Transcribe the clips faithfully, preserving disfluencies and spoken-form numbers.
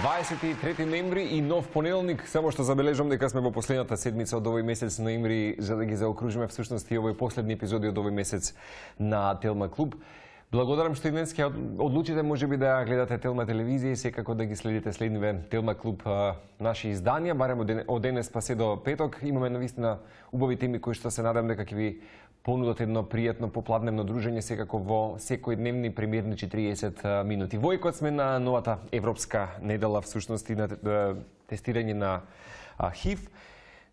дваесет и трети ноември и нов понеделник, само што забележам дека сме во последната седмица од овој месец ноември, за да ги заокружиме всушност и овој последни епизоди од овој месец на Телма клуб. Благодарам што и днес ќе одлучите можеби да гледате Телма телевизија и секако да ги следите следниве Телма клуб наши изданија, барем од денес па се до петок. Имаме навистина убави теми кои што се надам дека ќе ви понудат едно пријатно попладневно дружење секако во секојдневни премиерни четириесет минути. Во екот сме на новата европска недела всушност и на тестирање на ХИВ.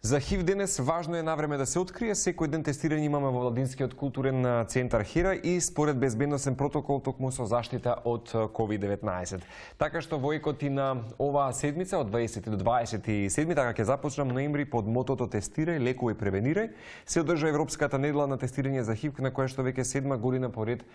За ХИВ денес важно е навреме да се открие. Секој ден тестирање имаме во Владинскиот културен центар Хира и според безбедносен протокол токму со заштита од ковид деветнаесет. Така што во екот и на оваа седмица од дваесети до дваесет и седми, така ќе започнам ноември под мотото Тестирај, лекувај, превенирај, се одржа европската недела на тестирање за ХИВ, на која што веќе седма година поред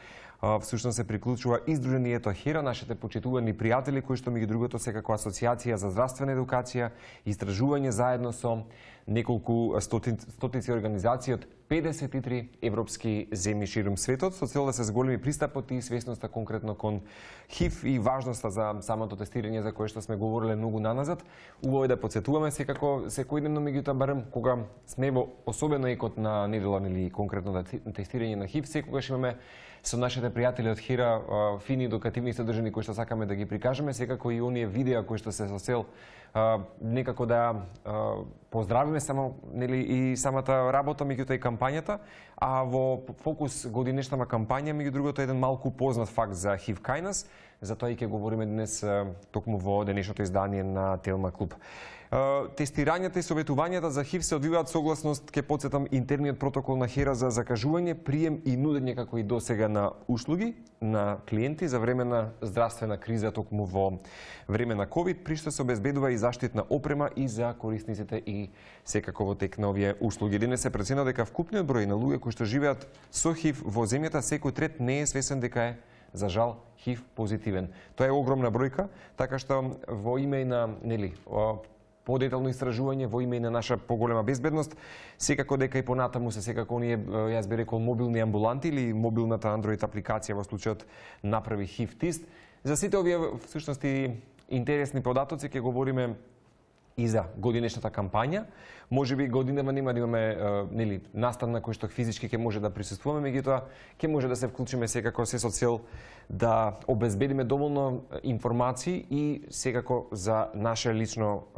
всушност се приклучува издруженијето Хира, нашите почитувани пријатели кои што меѓу другото секако асоциација за здравствена едукација, истражување заедно со неколку стотици организации од педесет и три европски земји ширум светот, со цел да се зголеми пристапот и свесноста конкретно кон ХИВ и важноста за самото тестирање за кое што сме говориле многу наназад. Убаво е да подсетуваме секако секојдневно, меѓутоа барем кога сме во особено екот на недела или конкретно на тестирање на ХИВ, секогаш имаме со нашите пријатели од Хира фини едукативни содржини кои што сакаме да ги прикажеме, секако и оние видеа кои што се со цел некако да поздравиме само нели и самата работа, меѓутоа и кампањата, а во фокус годинешната кампања меѓу другото еден малку познат факт за ХИВ кај нас, затоа и ќе говориме денес токму во денешното издание на Телма клуб. Тестирањата и советувањата за ХИВ се одвиваат согласност, ќе потсетам, интерниот протокол на Хира за закажување, прием и нудење како и досега на услуги на клиенти за време на здравствена криза токму во време на ковид, при што се обезбедува и заштитна опрема и за корисниците и секако во тек на овие услуги. Денес се проценува дека вкупниот број на луѓе кои што живеат со ХИВ во земјата, секој трет не е свесен дека е за жал ХИВ позитивен. Тоа е огромна бројка, така што во име на нели подетално истражување, во име на наша поголема безбедност, секако дека и понатаму се секако оние, јас би рекол, мобилни амбуланти или мобилната Android апликација во случајот направи ХИВ тест. За сите овие всушност и интересни податоци ќе говориме и за годинешната кампања. Можеби годинава нема да имаме нели настан на кој што физички ќе може да присуствуваме, меѓутоа ќе може да се вклучиме секако се со цел да обезбедиме доволно информации и секако за наше лично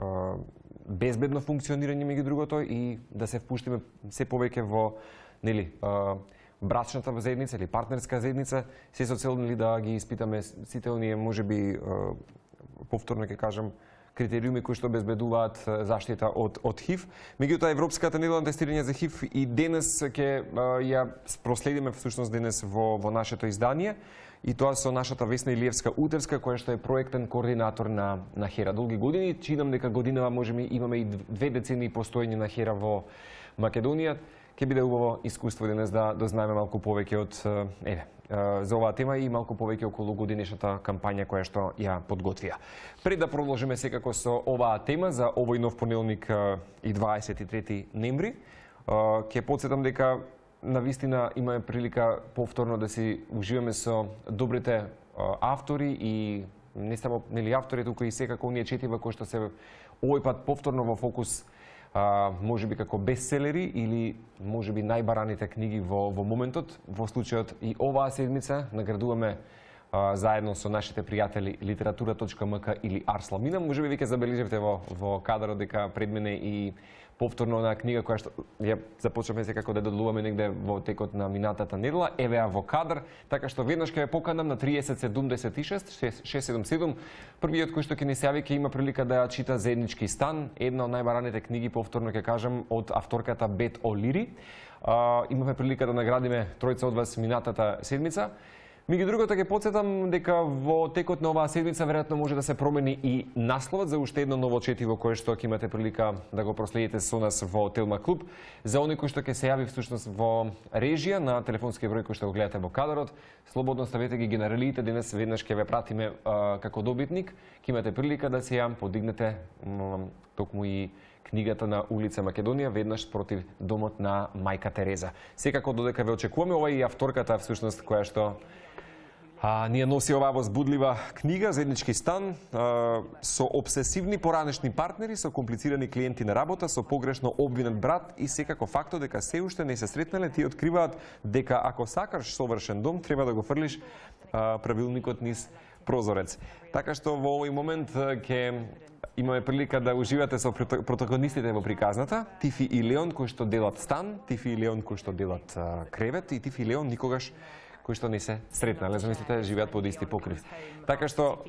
безбедно функционирање меѓу другото и да се впуштиме се повеќе во нели брачната заедница или партнерска заедница, се со цел нели да ги испитаме сите оние можеби повторно ќе кажам критериуми кои што обезбедуваат заштита од од ХИВ. Меѓутоа европската недела на тестирање за ХИВ и денес ќе ја проследиме всушност денес во во нашето издание и тоа со нашата Весна Илиевска Утевска, која што е проектен координатор на на Хера долги години. Чинам дека годинава можеме имаме и две децении постоење на Хера во Македонија. Ќе биде убаво искуство денес да дознаеме малку повеќе од еве за оваа тема и малку повеќе околу годинешната кампања која што ја подготвија. Пред да продолжиме секако со оваа тема за овој нов понеделник и дваесет и трети ноември, ќе потсетам дека навистина имаме прилика повторно да си уживаме со добрите автори и не само нели автори, туку и секако оние четива кои што се овој пат повторно во фокус, можеби како бестселери или можеби најбараните книги во во моментот. Во случајот и оваа седмица наградуваме а, заедно со нашите пријатели литература точка ем ка или Арсламина. Можеби веќе забележавте во во кадарот дека пред мене и повторно на книга која што ја започнавме секако да доделуваме негде во текот на минатата недела. Еве ја во кадар, така што веднаш ќе ја поканам на триесет седумдесет и шест шест седум седум. Првиот кој што ќе ни се јави ќе има прилика да ја чита Заеднички стан, една од најбараните книги, повторно ќе кажам, од авторката Бет О'Лири. Имаме прилика да наградиме тројца од вас минатата седмица. Меѓу другото ќе потсетам дека во текот на оваа седмица веројатно може да се промени и насловот за уште едно ново четиво кое што ќе имате прилика да го проследите со нас во Телма клуб. За оние кои што ќе се јави всушност во режија на телефонски број кој што го гледате во кадарот, слободно ставете ги генералиите, денес веднаш ќе ве пратиме а, како добитник, ќе имате прилика да се ја подигнете токму и книгата на улица Македонија, веднаш против домот на мајка Тереза. Секако додека ве очекуваме, ова е и авторката всушност која што А, ние носи оваа возбудлива книга Заеднички стан а, со обсесивни поранешни партнери, со комплицирани клиенти на работа, со погрешно обвинет брат и секако фактот дека се уште не се сретнале, ти откриваат дека ако сакаш совршен дом, треба да го фрлиш а, правилникот низ прозорец. Така што во овој момент ќе имаме прилика да уживате со протагонистите во приказната, Тифи и Леон кои што делат стан, Тифи и Леон кои што делат а, кревет и Тифи и Леон никогаш кои што не се сретнале, замислите, живеат под исти покрив. Така што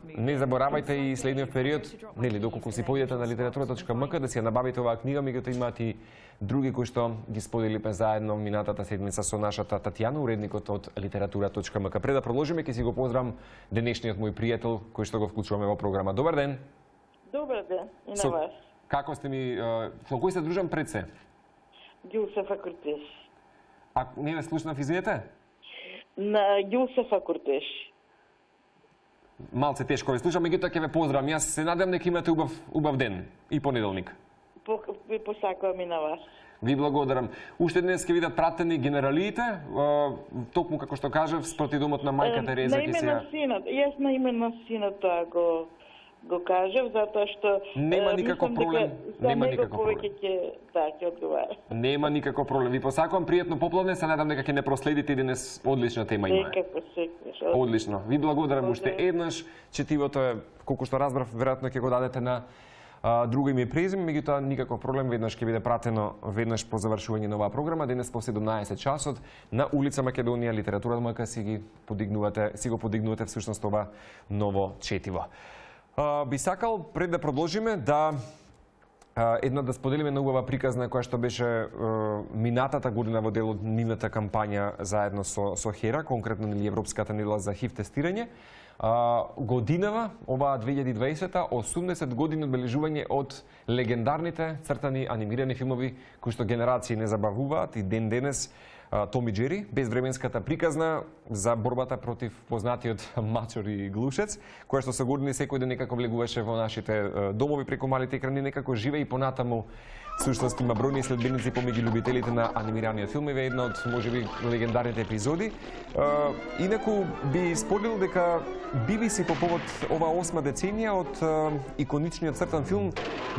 не заборавајте и следниот период, нели, доколку си поидете на литература точка ем ка да си ја набавите оваа книга, меѓутоа имаат и други кои што ги споделивме заедно минатата седмица со нашата Татјана, уредникот од литература точка ем ка. Пред да продолжиме, ќе си го поздравам денешниот мој пријател кој што го вклучуваме во програма. Добар ден. Добар ден и на со, вас. Како сте ми, со кој се дружам пред се? Јусефа Куртеш. А не ве слушнав, извинете? На Јусефа Куртеш. Малце тешко ве слушам, меѓутоа ќе ве поздравам. Јас се надевам дека имате убав убав ден и понеделник. По, ви посакувам и на вас. Ви благодарам. Уште днес ќе видат пратени генералиите, токму како што кажав, спроти домот на мајка Тереза ќе се. На име на синот. Јас на име на синот го го кажав затоа што нема никаков проблем, нема никаков проблем. Ќе да ќе одговара. Нема никаков проблем. Ви посакувам пријатно поплодне, се надам дека ќе не проследите денес одлична тема има. Секако, секако. Одлично. Ви благодарам уште еднаш. Четивото е, колку што разбрав, веројатно ќе го дадете на а, друго име и презиме, меѓутоа никаков проблем, веднаш ќе биде пратено веднаш по завршување на оваа програма, денес по седумнаесет часот на улица Македонија, литература МК си ги подигнувате, си го подигнувате всушност ова ново четиво. Uh, би сакал, пред да продолжиме, да uh, една да споделиме на убава приказна која што беше uh, минатата година во дел од нивната кампања заедно со, со Хера, конкретно нели Европската недела за ХИВ тестирање. Uh, годинава, оваа две илјади и дваесета, осумдесет години одбележување од легендарните цртани анимирани филмови кои што генерации не забавуваат и ден денес Том и Џери, безвременската приказна за борбата против познатиот мачор и глушец, која што со години секој ден некако влегуваше во нашите домови преку малите екрани, некако живее и понатаму. Всушност има бројни следбеници помеѓу љубителите на анимираниот филм, е една од можеби легендарните епизоди. Инаку би споделил дека би би си по повод ова осма деценија од иконичниот цртан филм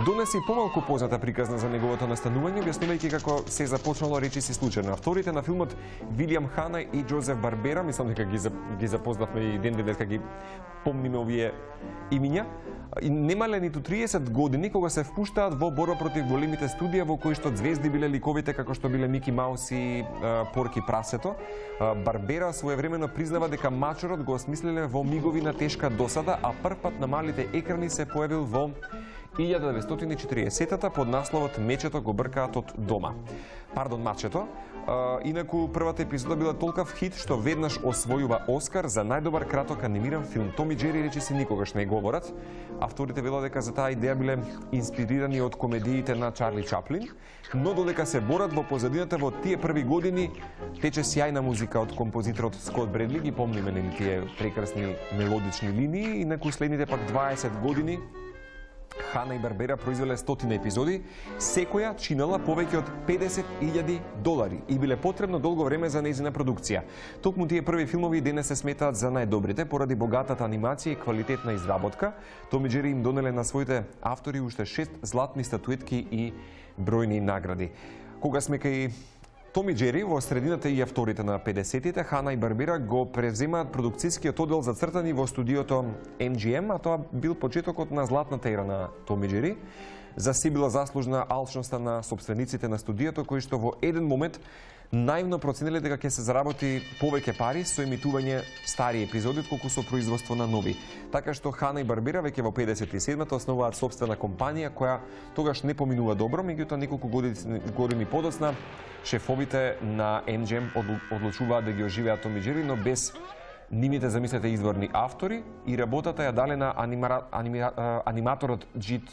донеси помалку позната приказна за неговото настанување, објаснувајќи како се започнало речиси случајно. Авторите на филмот Вилијам Хана и Џозеф Барбера, мислам дека ги ги запознавме и ден денес кога ги помниме овие имиња, и немале ниту триесет години кога се впуштаат во борба против големите студија во кои што звезди биле ликовите како што биле Мики Маус и Порки Прасето. Барбера своевремено признава дека мачорот го осмислиле во мигови на тешка досада, а првпат на малите екрани се појавил во илјада деветстотини и четириесетата под насловот Мечето го бркаат од дома. Пардон, Мачето. Uh, инаку првата епизода била толкав хит што веднаш освојува Оскар за најдобар краток анимиран филм. Том и Џери речиси никогаш не говорат. Авторите велат дека за таа идеја биле инспирирани од комедиите на Чарли Чаплин, но додека се борат во позадината во тие први години тече сјајна музика од композиторот Скот Бредли, ги помниме нели тие прекрасни мелодични линии, инаку следните пак дваесет години Хана и Барбера произвеле стотина епизоди, секоја чинала повеќе од педесет илјади долари и биле потребно долго време за нејзина продукција. Токму тие први филмови денес се сметаат за најдобрите поради богатата анимација и квалитетна изработка. Том и Џери им донеле на своите автори уште шест златни статуетки и бројни награди. Кога сме кај Том и Џери, во средината и авторите на педесетите, Хана и Барбера го превземаат продукцијскиот оддел за цртани во студиото Ем Джи Ем, а тоа бил почетокот на златната ера на Том и Џери. За си била заслужна алчноста на собствениците на студиото, кои што во еден момент наивно процениле дека ќе се заработи повеќе пари со емитување стари епизоди отколку со производство на нови. Така што Хана и Барбера веќе во педесет и седмата основаат собствена компанија која тогаш не поминува добро, меѓутоа неколку години, години подоцна шефовите на Ем Джи Ем одлучуваат да ги оживеат Том и Џери, но без нивните, замислете, изворни автори, и работата ја дале на анимара, анимира, аниматорот Џит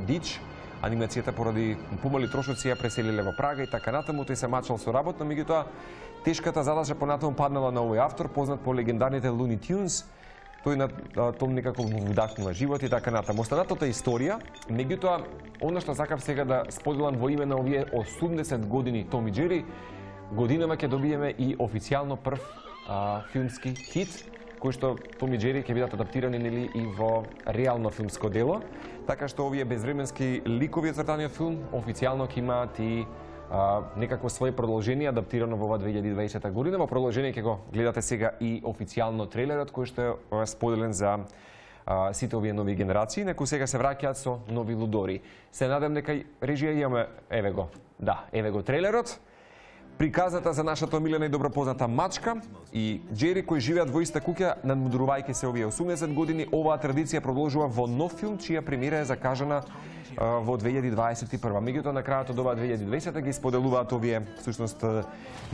Дич. Анимацијата поради помали трошоци ја преселиле во Прага и така натаму, тој се мачал со работа, меѓутоа тешката задача понатаму паднала на овој автор, познат по легендарните Луни Тюнс. Тој на Том некако вдахнува живот и така натаму. Останатата историја, меѓутоа, она што сакав сега да споделам во име на овие осумдесет години Том и Џери, годинава ќе добиеме и официјално прв а, филмски хит, кој што Том и Џери ќе бидат адаптирани нели и во реално филмско дело, така што овие безвременски ликови од цртаниот филм официјално ќе имаат и а, некакво свое продолжение адаптирано во ова две илјади и дваесета година. Во продолжение ќе го гледате сега и официјално трейлерот кој што е споделен за а, сите овие нови генерации, некои сега се враќаат со нови лудори. Се надам дека режија имаме, еве го, да, еве го трейлерот. Приказната за нашата омилена и добро позната мачка и Џери кои живеат во иста куќа надмудрувајќи се овие осумдесет години. Оваа традиција продолжува во нов филм чија премиера е закажана а, во две илјади дваесет и прва. Меѓутоа на крајот од оваа две илјади и дваесета ги споделуваат овие всушност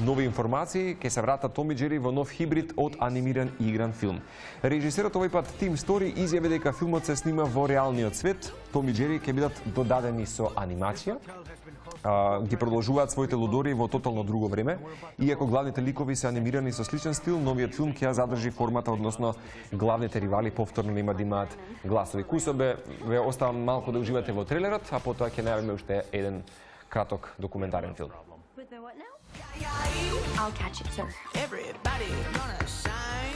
нови информации, ќе се вратат Том и Џери во нов хибрид од анимиран и игран филм. Режисерот овој пат Тим Стори изјави дека филмот се снима во реалниот свет. Том и Џери ќе бидат додадени со анимација. Uh, ги продолжуваат своите лудори во тотално друго време. Иако главните ликови се анимирани со сличен стил, новиот филм ќе ја задржи формата, односно главните ривали повторно нема да имаат гласови. Кусобе, ве оставам малку да уживате во трейлерот, а потоа ќе најавиме уште еден краток документарен филм. I'll catch it, sir. Everybody gonna shine.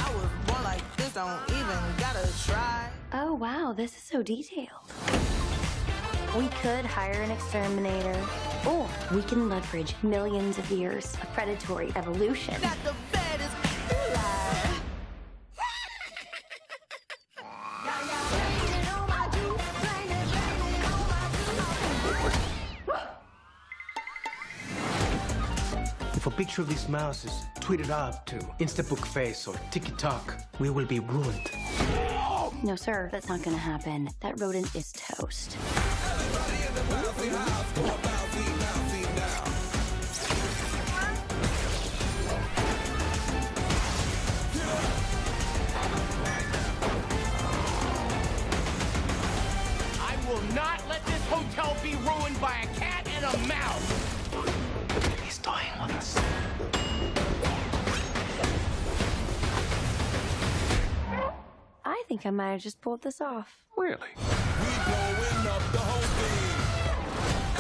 I was born like this, don't even gotta try. Oh wow, this is so detailed. We could hire an exterminator, or we can leverage millions of years of predatory evolution. Got the baddest lie. If a picture of this mouse is tweeted out to Instabook Face or TikTok, we will be ruined. No, sir, that's not gonna happen. That rodent is toast. I will not let this hotel be ruined by a cat and a mouse. He's toying with us. I think I might have just pulled this off. Really? We blowing up the whole thing.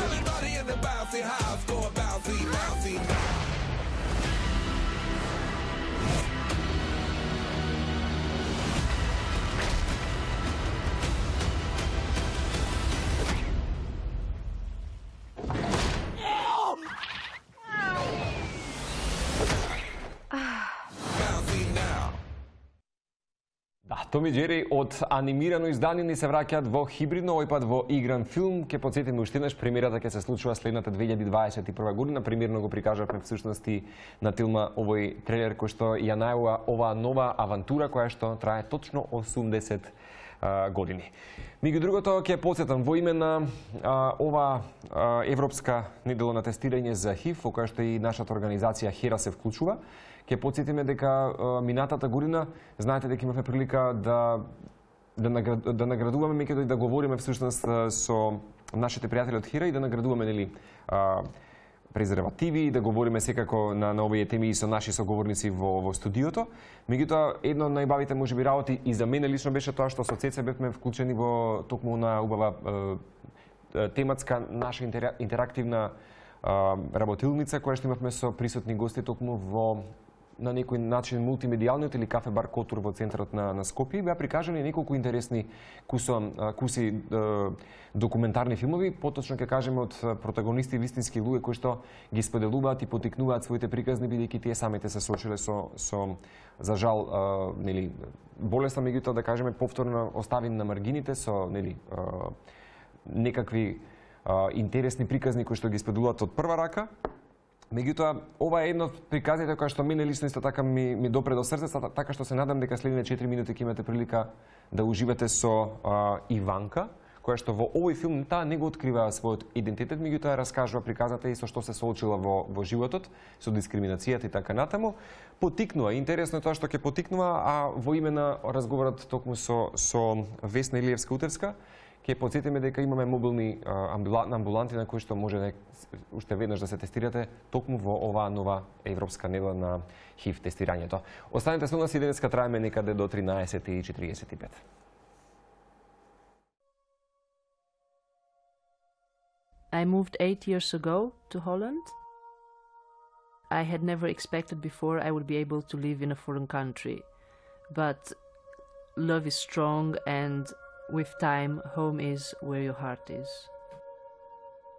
Everybody in the bouncy house go bouncy, bouncy now. Да, Том и Џери од анимирано издание ни се враќаат во хибридно, овој пат во игран филм. Ке потсетиме уште еднаш, премиерата ќе се случува следната две илјади дваесет и прва година. Премиерно го прикажавме всушност и на филма овој трейлер кој што ја најава оваа нова авантура која што трае точно осумдесет а, години. Меѓу другото ќе потсетам во име на а, ова а, европска недело на тестирање за ХИВ, во која што и нашата организација Хера се вклучува. Ќе потсетиме дека а, минатата година, знаете дека имавме прилика да да, наград, да наградуваме, меѓутоа и да говориме всушност со нашите пријатели од Хира и да наградуваме нели а, презервативи, да говориме секако на, на овие теми и со наши соговорници во, во студиото. Меѓутоа, едно од најбавите можеби работи и за мене лично беше тоа што со Цеца бевме вклучени во токму на убава е, тематска наша интерактивна е, работилница која што имавме со присутни гости токму во на некој начин мултимедијалниот или кафе бар Котур во центарот на, на Скопје. Беа прикажани неколку интересни кусо, куси е, документарни филмови, поточно ќе кажеме од протагонисти вистински луѓе кои што ги споделуваат и потикнуваат своите приказни, бидејќи тие самите се соочиле со, со за жал, е, нели, болесна, меѓутоа да кажеме повторно оставени на маргините со нели, е, некакви е, интересни приказни кои што ги споделуваат од прва рака. Меѓутоа, ова е едно од приказните која што мене лично исто така ми, ми допре до срцето, така што се надам дека следните четири минути ќе имате прилика да уживате со а, Иванка, која што во овој филм таа не го открива својот идентитет, меѓутоа раскажува приказната и со што се соочила во, во животот, со дискриминацијата и така натаму. Потикнува, интересно е тоа што ќе потикнува, а во име на разговорот токму со, со Весна Илиевска-Утевска, ќе потсетиме дека имаме мобилни амбуланти на кои што може да уште веднаш да се тестирате токму во оваа нова европска недела на ХИВ тестирањето. Останете со нас и денеска траеме некаде до тринаесет и четириесет и пет. I moved eight years ago to Holland. I had never expected before I would be able to live in a foreign country. But love is strong, and with time, home is where your heart is.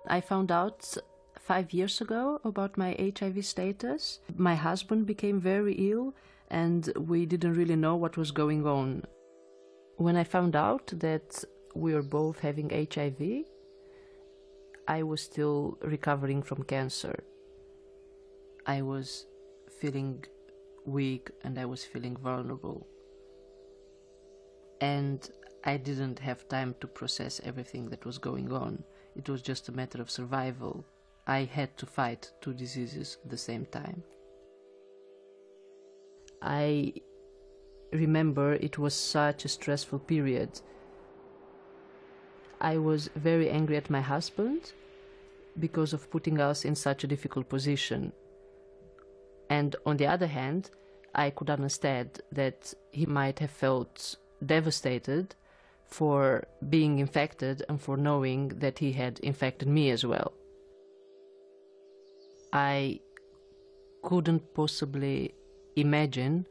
I found out five years ago about my H I V status. My husband became very ill, and we didn't really know what was going on. When I found out that we were both having H I V, I was still recovering from cancer. I was feeling weak and I was feeling vulnerable. And I didn't have time to process everything that was going on. It was just a matter of survival. I had to fight two diseases at the same time. I remember it was such a stressful period. I was very angry at my husband because of putting us in such a difficult position. And on the other hand, I could understand that he might have felt devastated for being infected and for knowing that he had infected me as well. I couldn't possibly imagine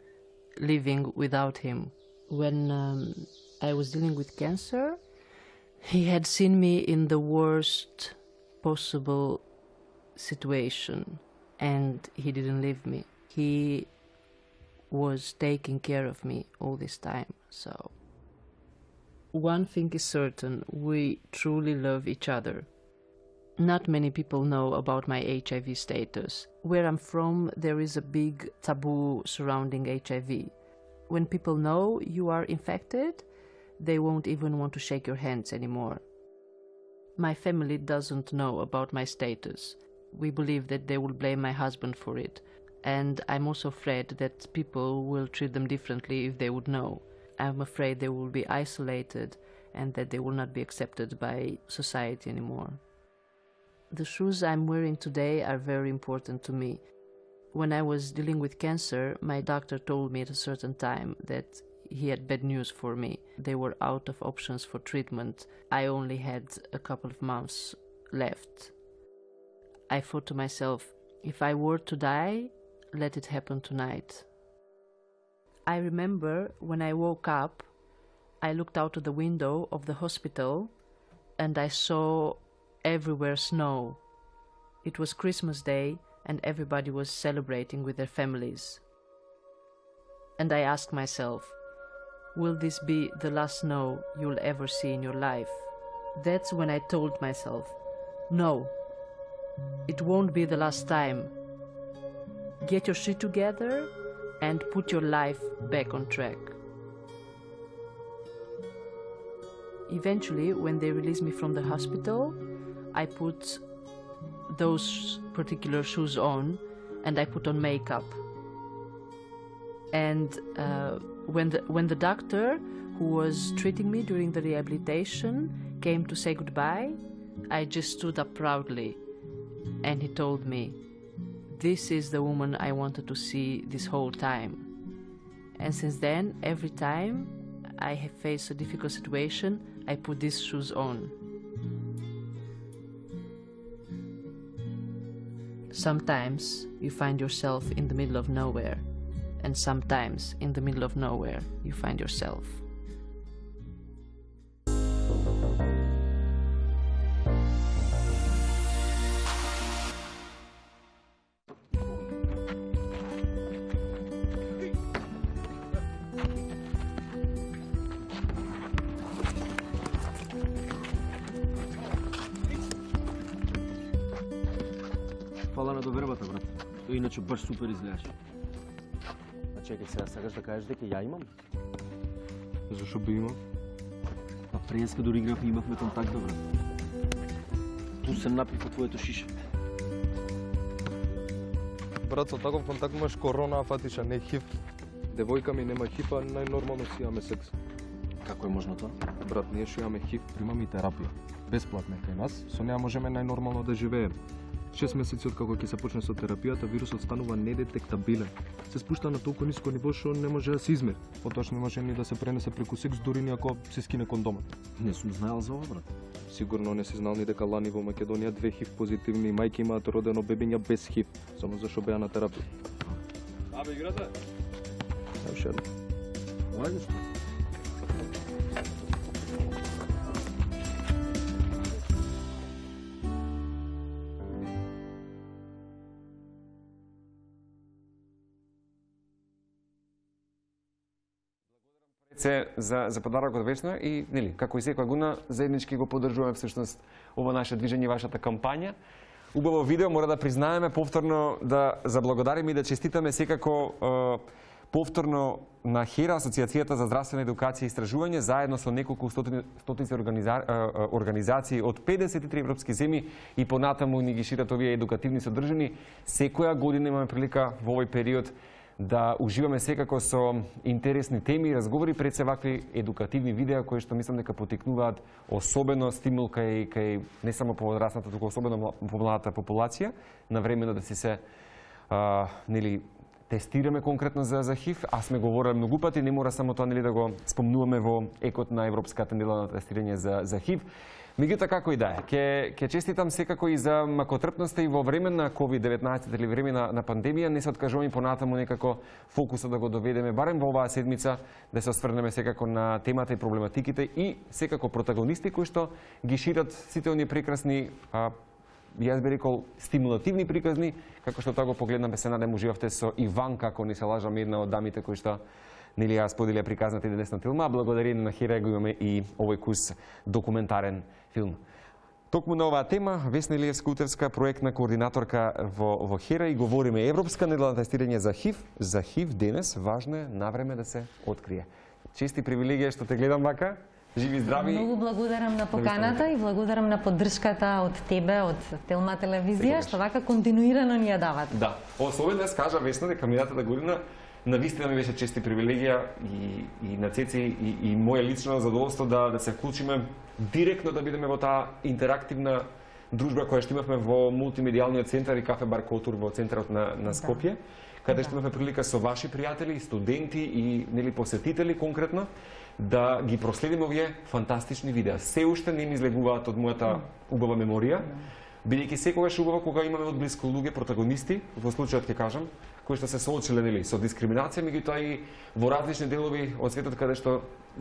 living without him. When um, I was dealing with cancer, he had seen me in the worst possible situation, and he didn't leave me. He was taking care of me all this time. So one thing is certain, we truly love each other. Not many people know about my H I V status. Where I'm from, there is a big taboo surrounding H I V. When people know you are infected, they won't even want to shake your hands anymore. My family doesn't know about my status. We believe that they will blame my husband for it. And I'm also afraid that people will treat them differently if they would know. I'm afraid they will be isolated and that they will not be accepted by society anymore. The shoes I'm wearing today are very important to me. When I was dealing with cancer, my doctor told me at a certain time that he had bad news for me. They were out of options for treatment. I only had a couple of months left. I thought to myself, if I were to die, let it happen tonight. I remember when I woke up, I looked out of the window of the hospital and I saw everywhere snow. It was Christmas Day and everybody was celebrating with their families. And I asked myself, will this be the last snow you'll ever see in your life? That's when I told myself, no, it won't be the last time. Get your shit together and put your life back on track. Eventually, when they released me from the hospital, I put those particular shoes on and I put on makeup. And uh, when, the, when the doctor who was treating me during the rehabilitation came to say goodbye, I just stood up proudly and he told me, this is the woman I wanted to see this whole time. And since then, every time I have faced a difficult situation, I put these shoes on. Sometimes you find yourself in the middle of nowhere, and sometimes in the middle of nowhere you find yourself. Фала на довербата, брат. Тој иначе баш супер изгледаш. А чекай сега, сакаш да кажеш дека ја имам? Зашо би имал? А преска дори игравме, имавме контакт, да, брат. Ту се напив од твоето шише. Брат, со таков контакт имаш корона, а фатиш, а не хив. Девојка ми нема хив, а најнормално си имаме секс. Како е можно тоа? Брат, ние што имаме хив, примаме и терапија. Бесплатна е кај нас, со неа можеме најнормално да живееме. Шест месеци откако ќе се почне со терапијата, вирусот станува недетектабилен. Се спушта на толку ниско ниво што не може да се измери. Потоаш не може ни да се пренесе преку секс, дури ни ако се скине кондомот. Не сум знаел за ова, брат. Сигурно не си знал ни дека лани во Македонија две хив позитивни мајки имаат родено бебиња без хив, само зашто беа на терапија. Абе, играте? Уште едно. Ајде што? се за за подарокот Весна и нели како и секоја година заеднички го поддржуваме всушност ова наше движење, вашата кампања. Убаво видео, мора да признаеме повторно да заблагодариме и да честитаме секако е, повторно на Хера, Асоциацијата за здравствена едукација и истражување, заедно со неколку стотини, стотици организа, организации од педесет и три европски земји и понатаму ни ги шират овие едукативни содржини. Секоја година имаме прилика во овој период да уживаме секако со интересни теми и разговори, пред се вакви едукативни видеа кои што мислам дека потикнуваат особено стимул кај кај не само поводрасната, туку особено по младата популација, на времено да си се а, нели тестираме конкретно за за хив, а сме говореле многу пати, не мора само тоа нели да го спомнуваме во екот на Европската недела на тестирање за за хив. Меѓутоа како и да е, ќе ќе честитам секако и за макотрпноста и во време на ковид деветнаесет или време на, на пандемија, не се откажуваме понатаму некако фокусот да го доведеме барем во оваа седмица, да се осврнеме секако на темата и проблематиките и секако протагонисти кои што ги шират сите оние прекрасни а, јас би рекол стимулативни приказни, како што тоа го погледнаме, се надам уживавте со Иван, како не се лажам, една од дамите кои што нели ја споделија приказната и денесна филма, благодарение на Хера го имаме и овој кус документарен филм. Токму на оваа тема, Весна Илиевска-Утевска, проектна координаторка во, во Хера, и говориме Европска недела на тестирање за хив. За хив денес важно е навреме да се открие. Чести привилегија што те гледам вака. Живи здрави. Многу благодарам на поканата и благодарам на поддршката од тебе, од Телма телевизија, што вака континуирано ни ја дават. Да. Особено днес кажа Весна дека минатата година навистина ми беше чести привилегија и, и на Цеци и, и моја лично задоволство да, да се вклучиме директно да бидеме во таа интерактивна дружба која што имавме во мултимедијалниот центар и кафе бар Котур во центарот на, на Скопје, да. Каде што имавме прилика со ваши пријатели, студенти и нели посетители конкретно да ги проследиме овие фантастични видеа. Се уште не ми излегуваат од мојата убава меморија, бидејќи секогаш убаво кога имаме од близко луѓе протагонисти, во случајот ќе кажам, кои што се соочиле нели со дискриминација, меѓутоа и во различни делови од светот каде што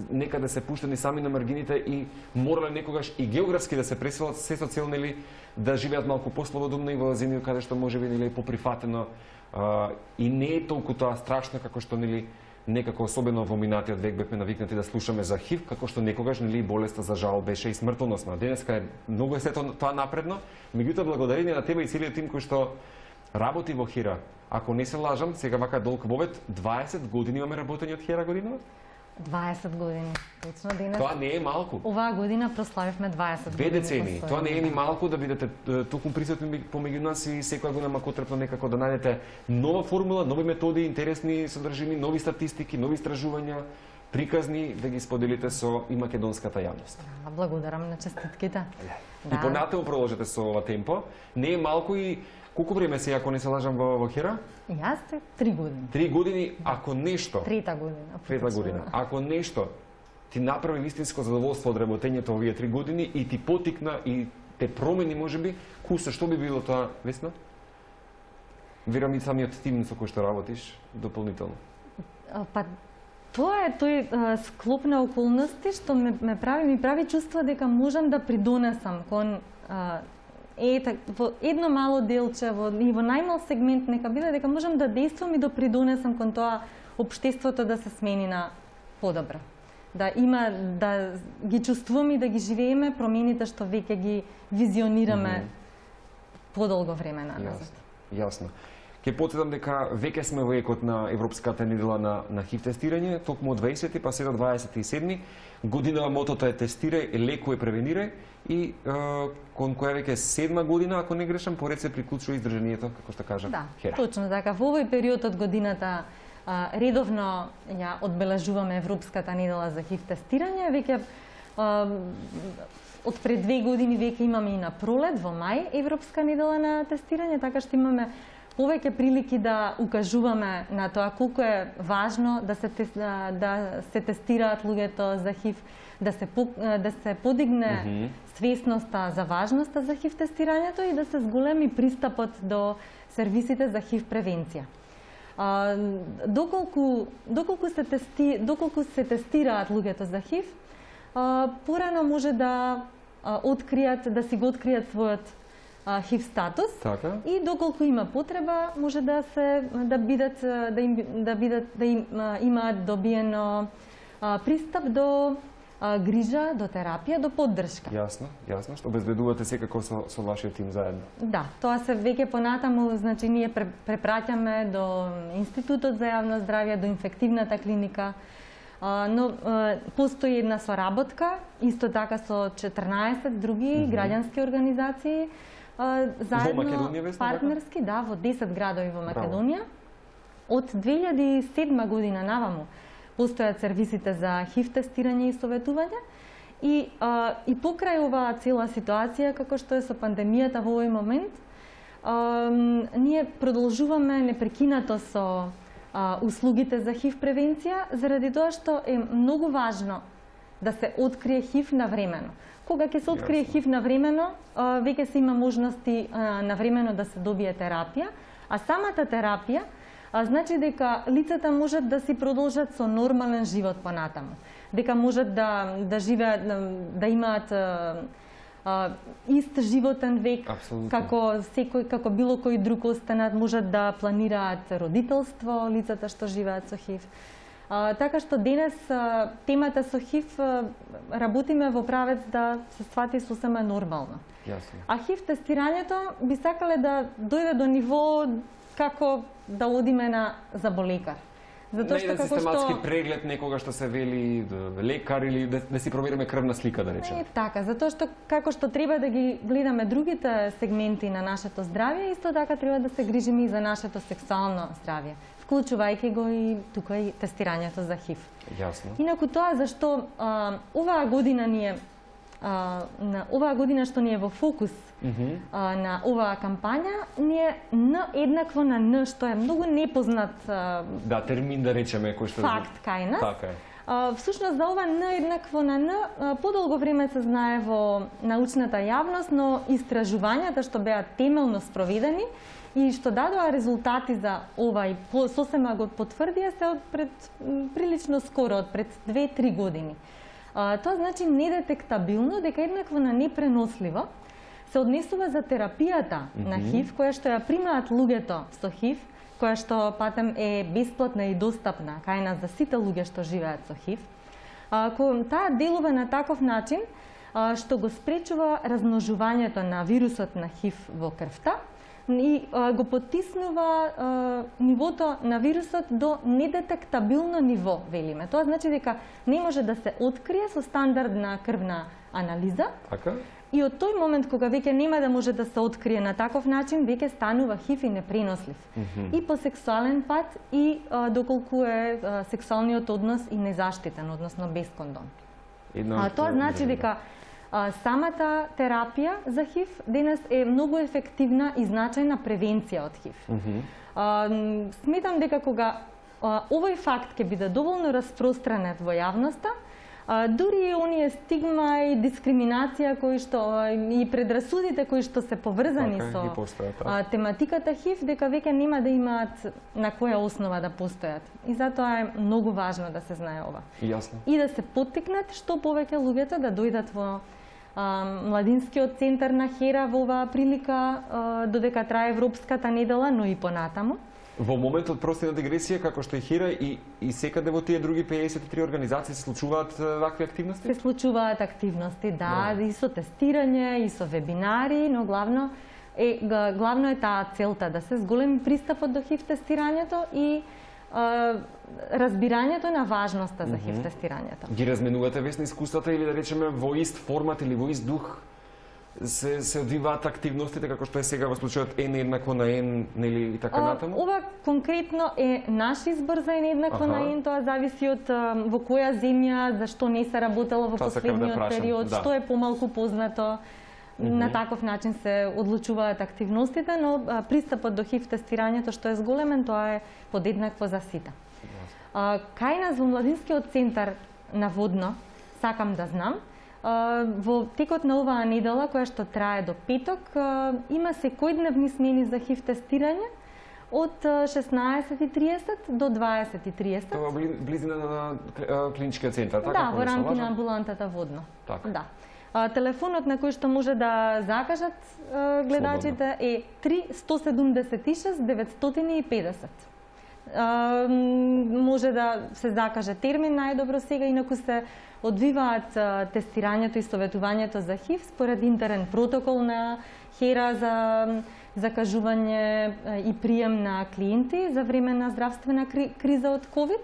некаде се пуштени сами на маргините и морале некогаш и географски да се преселат, се со цел нели да живеат малку послободумно и во земји каде што можеби нели поприфатено а, и не е толку тоа страшно како што нели некако особено во минатиот век бевме навикнати да слушаме за хив, како што некогаш нели болеста за жал беше и смртоносна. Денеска е многу е сето тоа напредно, меѓутоа благодарение на тебе и целиот тим кој што работи во Хера. Ако не се лажам, сега вака долг вовет, дваесет години имаме работење од Хера година? дваесет години. Точно денес. Тоа не е малку. Оваа година прославивме дваесет Две години. децени. Тоа не е ни малку да бидете токму присутни помеѓу нас и секоја година макотрпно некако да најдете нова формула, нови методи, интересни содржини, нови статистики, нови истражувања, приказни да ги споделите со и македонската јавност. Благодарам на честитките. Да. И понатаму продолжете со ова темпо. Не е малку и колку време се, ако не се лажам, во, во Хера? Јас три години. Три години, ако нешто... Трета година. Трета година. Ако нешто ти направи вистинско задоволство од работењето овие три години и ти потикна и те промени, можеби, куса, што би било тоа, Весна? Верам и самиот тим со кој што работиш, дополнително. Па, тоа е тој а, склоп на околности што ме, ме прави, ми прави чувство дека можам да придонесам кон а, е, так, во едно мало делче, во, и во најмал сегмент нека биде, дека можам да действам и да придонесам кон тоа општеството да се смени на подобро. Да има, да ги чувствуваме и да ги живееме промените што веќе ги визионираме mm -hmm. подолго време назад. Јасно. Јасно. Ке потсетам дека веќе сме во екот на Европската недела на, на хив тестирање, токму од дваесети па сега дваесет и седми. Година мотото е тестирај, лекувај, превенирај и е, кон која веќе седма година, ако не грешам, поред се приклучува издржанието, како што кажа да, Хера. Точно така. Во овој период од годината а, редовно ја одбележуваме Европската недела за хив тестирање, веќе а, од пред две години веќе имаме и на пролет во мај Европска недела на тестирање, така што имаме повеќе прилики да укажуваме на тоа колку е важно да се да се тестираат луѓето за ХИВ, да се да се подигне mm -hmm. свесноста за важноста за ХИВ тестирањето и да се зголеми пристапот до сервисите за ХИВ превенција. А, доколку доколку се тести доколку се тестираат луѓето за ХИВ, а, порано може да а, откријат да си го откријат својот ХИВ статус, така? И доколку има потреба може да се да бидат да им да бидат да им, имаат добиено а, пристап до а, грижа, до терапија, до поддршка. Јасно, јасно, што обезбедувате секако со со вашиот тим заедно. Да, тоа се веќе понатаму, значи ние препраќаме до Институтот за јавно здравје, до инфективната клиника. А, но а, постои една соработка исто така со четрнаесет други mm -hmm. граѓански организации. Uh, заедно, во Македонија, партнерски, да, во десет градови во Македонија. Од две илјади и седма година наваму постојат сервисите за ХИВ тестирање и советување и, uh, и покрај оваа цела ситуација, како што е со пандемијата во овој момент, uh, ние продолжуваме непрекинато со uh, услугите за ХИВ превенција, заради тоа што е многу важно да се открие ХИВ навремено. Кога ќе се открие ХИВ навремено, веќе се има можности навремено да се добие терапија, а самата терапија значи дека лицата можат да си продолжат со нормален живот понатаму, дека можат да да живеат, да имаат а, ист животен век, Абсолютно. како секој како било кој друг останат, можат да планираат родителство лицата што живеат со ХИВ. А, така што денес а, темата со ХИВ а, работиме во правец да се свати сосема нормално. Јасно. А ХИВ тестирањето би сакале да дојде до ниво како да одиме на заболекар. Затоа што како систематски што... преглед некога што се вели лекар или да, да си провериме крвна слика, да речеме. Не така, затоа што како што треба да ги гледаме другите сегменти на нашето здравје, исто така треба да се грижиме и за нашето сексуално здравје, вклучувајќи го и тука и тестирањето за ХИВ. Јасно. Инаку тоа зашто а, оваа година ни е а, на оваа година што ни е во фокус mm -hmm. а, на оваа кампања, ни е Н еднакво на Н, што е многу непознат а, да, термин да речеме кој што факт кај нас. Така е. А, всушност за ова Н еднакво на Н подолго време се знае во научната јавност, но истражувањата што беа темелно спроведени и што дадоа резултати за ова и сосема го потврдија се од пред прилично скоро, од пред две-три години. А, тоа значи недетектабилно, дека еднакво на непреносливо се однесува за терапијата mm -hmm. на ХИВ, која што ја примаат луѓето со ХИВ, која што патем е бесплатна и достапна кај нас за сите луѓе што живеат со ХИВ. Ако таа делува на таков начин а, што го спречува размножувањето на вирусот на ХИВ во крвта, и а, го потиснува а, нивото на вирусот до недетектабилно ниво, велиме. Тоа значи дека не може да се открие со стандардна крвна анализа. Така? И од тој момент кога веќе нема да може да се открие на таков начин, веќе станува ХИВ и непренослив. Mm -hmm. И по сексуален пат и а, доколку е а, сексуалниот однос и незаштитен, односно без кондом. Едно, а тоа значи дека а, самата терапија за ХИВ денес е многу ефективна и значајна превенција од ХИВ. Mm -hmm. а, сметам дека кога а, овој факт ќе биде доволно распространет во јавноста, А, дури и оние стигма и дискриминација кои што и предрасудите кои што се поврзани така, со постојат, а, тематиката ХИВ, дека веќе нема да имаат на која основа да постојат. И затоа е многу важно да се знае ова. Јасно. И да се поттикнат што повеќе луѓето да дојдат во а, младинскиот центар на Хера во оваа прилика, а, додека трае Европската недела, но и понатаму. Во моментот прости на дигресија, како што и Хира и, и секаде во тие други пеесет и три организации се случуваат вакви активности? Се случуваат активности, да, no. и со тестирање, и со вебинари, но главно е, главно е таа целта, да се зголеми пристапот до ХИВ тестирањето и а, разбирањето на важноста за ХИВ тестирањето. Ги разменувате весни искуствата или да речеме во ист формат или во ист дух се се одвиваат активностите како што е сега во случајот N еднакво на N, нели и така натаму? Ова конкретно е наш избор за N еднакво на N, тоа зависи од во која земја, зашто не се работело во последниот да период, да. Што е помалку познато. Mm-hmm. На таков начин се одлучуваат активностите, но а, пристапот до ХИВ тестирањето што е зголемен, тоа е подеднакво за сите. А, кај нас во Младинскиот центар наводно, сакам да знам, а, во текот на оваа недела, која што трае до петок, а, има секојдневни смени за ХИВ тестирање од шеснаесет и триесет до дваесет и триесет. Тоа близина на клиничкиот центар, така? Да, во рамки на амбулантата водно. Така. Да. А, телефонот на кој што може да закажат а, гледачите е три сто седумдесет и шест деветстотини и педесет. А, може да се закаже термин најдобро сега, инаку се одвиваат а, тестирањето и советувањето за ХИВ според интерен протокол на ХЕРА за закажување а, и прием на клиенти за време на здравствена кри, криза од ковид,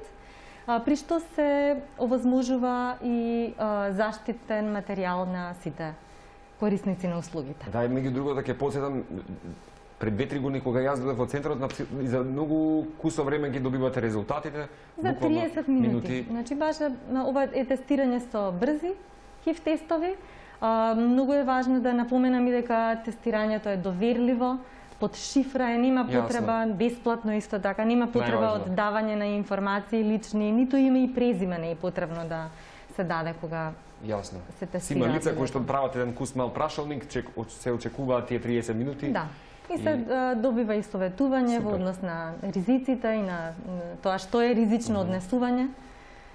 а, при што се овозможува и а, заштитен материјал на сите корисници на услугите. Да, и меѓу другото да ќе потсетам, пред две-три години кога јас додев во центарот, и за многу кусо време ги добивате резултатите. За триесет минути. минути. Значи баш ова е тестирање со брзи ХИВ тестови. А, многу е важно да напоменам и дека тестирањето е доверливо, под шифра е, нема потреба, Јасно. Бесплатно исто така, нема потреба од давање на информации лични, ниту име и презиме не е потребно да се даде кога Јасно. се тестира. Има лица кои што прават еден кус мал прашалник, чек, се очекуваат тие триесет минути. Да. И се и... добива и советување Супер. Во однос на ризиците и на тоа што е ризично mm-hmm. однесување.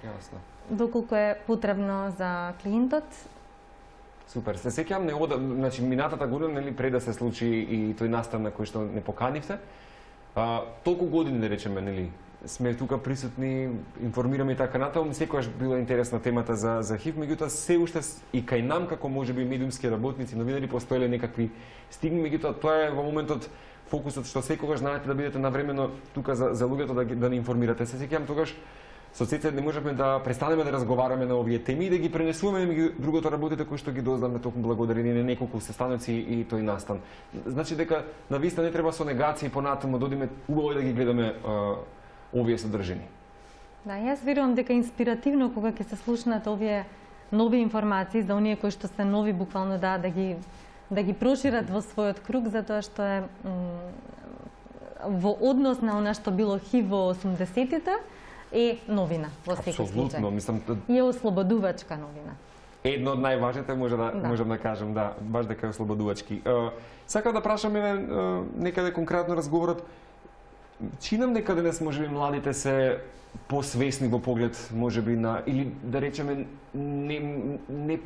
Јасно. Доколку е потребно за клиентот. Супер. Се сеќавам не ода, значи минатата година, нели, пред да се случи и тој настан на кој што не поканивте, а, толку години, да речеме, нели, сме тука присутни, информираме и така натаму, секогаш била интересна темата за за ХИВ, меѓутоа се уште и кај нам како можеби медиумски работници, новинари постоеле некакви стигми, меѓутоа тоа е во моментот фокусот што секогаш знаете да бидете навремено тука за за луѓето да да ни информирате. Се сеќавам тогаш со Цеце не можеме да престанеме да разговараме на овие теми и да ги пренесуваме меѓу другото работите кои што ги дознавме токму благодарение на неколку сестаноци и тој настан. Значи дека нависта не треба со негации понатаму додиме убаво да ги гледаме а, овие содржини. Да, јас верувам дека инспиративно кога ќе се слушнат овие нови информации за оние кои што се нови буквално да да ги да ги прошират во својот круг, затоа што е во однос на она што било ХИВ во осумдесетите е новина во секој случај. Апсолутно, мислам и е ослободувачка новина. Едно од најважните може да, да. можам да кажам, да, баш дека е ослободувачки. Uh, сакам да прашам еве uh, некаде конкретно разговорот. Чинам дека денес можеби младите се посвесни во поглед можеби на или да речеме не не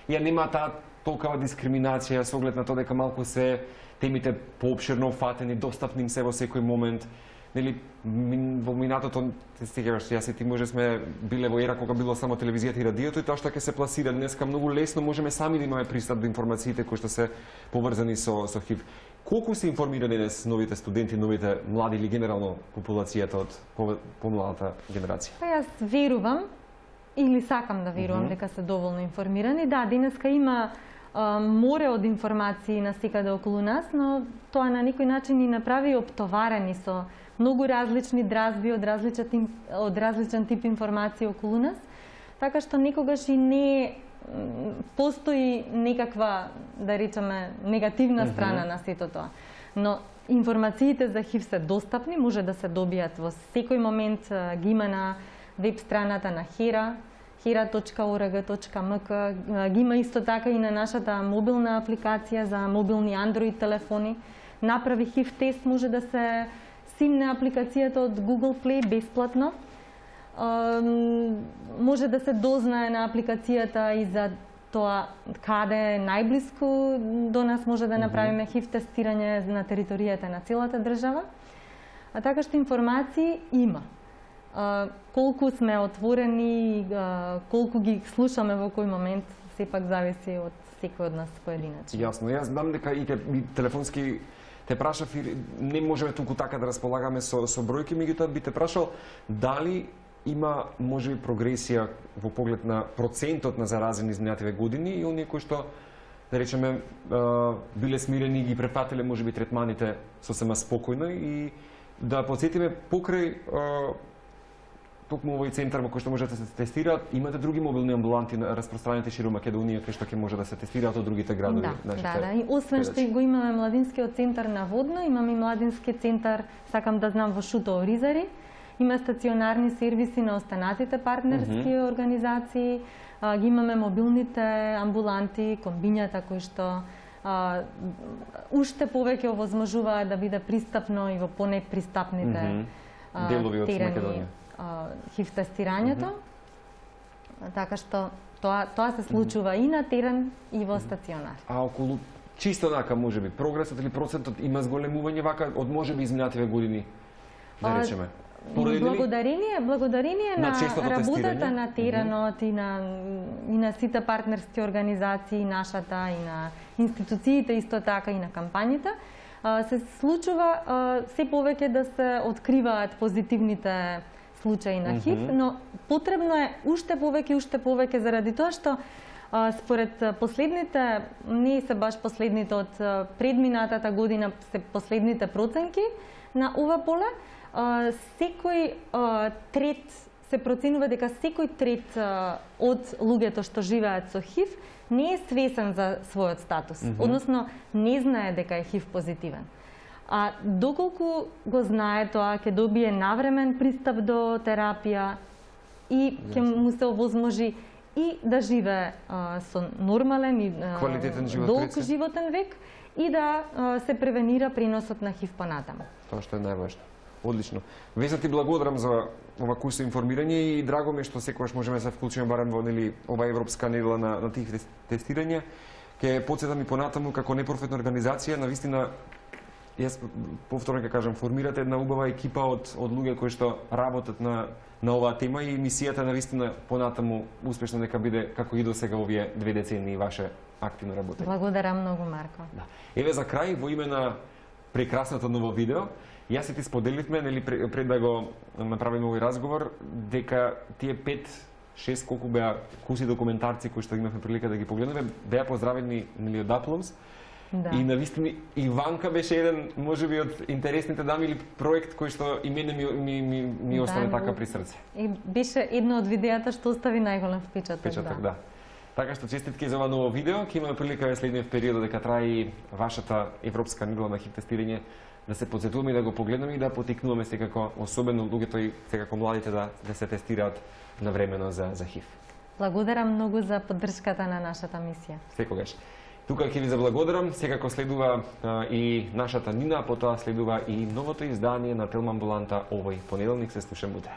ја нема таа толкава дискриминација со оглед на тоа дека малку се темите поопширно офатени, достапни им се во секој момент. Нели во минатото се сеќаваш, јас и ти може сме биле во ера кога било само телевизијата и радиото и тоа што ќе се пласира денеска многу лесно можеме сами да имаме пристап до информациите кои што се поврзани со со ХИВ. Колку се информирани денес новите студенти, новите млади или генерално популацијата од помладата генерација? Па јас верувам или сакам да верувам mm-hmm. дека се доволно информирани. Да, денеска има а, море од информации на секаде околу нас, но тоа на некој начин ни направи оптоварени со многу различни дразби од различен од различен тип информации околу нас, така што некогаш и не постои некаква, да речеме, негативна страна mm-hmm. на сето тоа. Но информациите за ХИВ се достапни, може да се добијат во секој момент, ги има на веб страната на ХЕРА, хера точка орг точка ем ка, ги има исто така и на нашата мобилна апликација за мобилни Android телефони. Направи ХИВ тест, може да се симне апликацијата од Google Play бесплатно. Може да се дознае на апликацијата и за тоа каде е најблиску до нас може да направиме ХИВ тестирање на територијата на целата држава. А така што информации има. Колку сме отворени, колку ги слушаме во кој момент, сепак зависи од секој од нас поединачно. Јасно, јас знам дека и, те, и телефонски те прашав, не можеме туку така да располагаме со, со бројки, меѓутоа би те прашал дали има можеби прогресија во поглед на процентот на заразени изминативе години и оние кои што да речеме, биле смирени и ги префатиле можеби третманите сосема спокојно и да подсетиме покрај токму овој центар во кој што може да се тестираат, имате други мобилни амбуланти распространети широм Македонија кај што ќе може да се тестираат од другите градови. Да, да, да. И освен што го имаме младинскиот центар на Водно, имаме и младински центар, сакам да знам, во Шуто Оризари. Има стационарни сервиси на останатите партнерски mm -hmm. организации. А, ги имаме мобилните амбуланти, комбињата кои што а, уште повеќе овозможуваат да биде пристапно и во понепристапните mm -hmm. делови од Македонија. хив тестирањето. Mm -hmm. Така што тоа тоа се случува mm -hmm. и на терен и во стационар. А околу чисто онака можеби прогресот или процентот има зголемување вака од можеби изминативе години, да речеме. Благодарение, благодарение на, на работата на теренот mm -hmm. и на и на сите партнерски организации, нашата и на институциите исто така и на кампањите, се случува се повеќе да се откриваат позитивните случаи на хив, mm -hmm. но потребно е уште повеќе, уште повеќе заради тоа што според последните, не се баш последните од предминатата година, се последните проценки на ова поле, секој трет се проценува дека секој трет од луѓето што живеат со хив не е свесен за својот статус, mm -hmm. односно не знае дека е хив позитивен. А доколку го знае тоа, ќе добие навремен пристап до терапија и ќе му се овозможи и да живее а, со нормален и квалитетен живот, долг животен век и да а, се превенира преносот на хив понатаму. Тоа што е најважно. Одлично. Веса ти благодарам за ова курс информирање и драго ми е што секогаш можеме да се вклучиме барем во нели ова европска недела на на тих тестирања. Ќе потсетам и понатаму како непрофитна организација, навистина јас повторно ќе кажам, формирате една убава екипа од од луѓе кои што работат на на оваа тема и мисијата навистина понатаму успешно нека биде како и до сега овие две децении ваше активно работење. Благодарам многу, Марко. Да. Еве за крај во име на прекрасното ново видео, јас и ти споделивме, нели пред да го направиме овој разговор, дека тие пет шест колку беа куси документарци кои што имавме прилика да ги погледнеме, беа поздравени нели од Апломс. Да. И навистина Иванка беше еден можеби од интересните дами или проект кој што и мене ми ми ми, ми да, остане така при срце. И беше едно од видеата што остави најголем впечаток. Впечаток, да. да. Така што честитки за ова ново видео, ќе имаме прилика во следниот период дека трае и вашата европска недела на хив тестирање да се подсетуваме и да го погледнеме и да потикнуваме секако, особено луѓето и секако младите да да се тестираат навремено за за хив. Благодарам многу за поддршката на нашата мисија. Секогаш. Тука ќе ви заблагодарам, секако следува а, и нашата Нина, потоа следува и новото издание на Телма амбуланта овој понеделник, се слушаме утре.